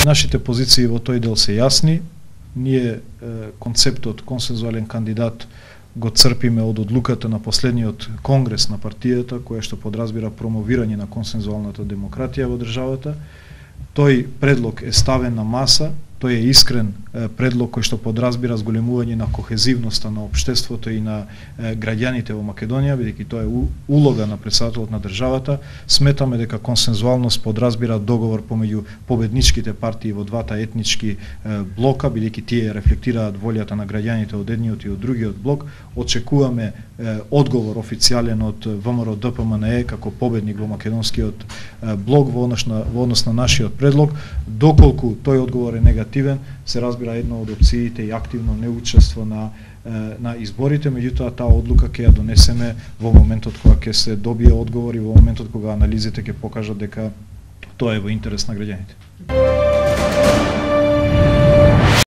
Нашите позиции во тој дел се јасни. Ние концептот консензуален кандидат го црпиме од одлуката на последниот конгрес на партијата, која што подразбира промовирање на консензуалната демократија во државата. Тој предлог е ставен на маса, тој е искрен предлог кој што подразбира зголемување на кохезивноста на општеството и на граѓаните во Македонија, бидејќи тоа е улога на претседателот на државата. Сметаме дека консензуалност подразбира договор помеѓу победничките партии во двата етнички блока, бидејќи тие рефлектираат волјата на граѓаните од едниот и од другиот блок. Очекуваме одговор официјален од ВМРО ДПМНЕ како победник во македонскиот блок во однос на нашиот предлог. Доколку тој одговор е негативен, се разбира една од опциите и активно неучество на изборите, меѓутоа таа одлука ќе ја донесеме во моментот кога ќе се добие одговор и во моментот кога анализите ќе покажат дека тоа е во интерес на граѓаните.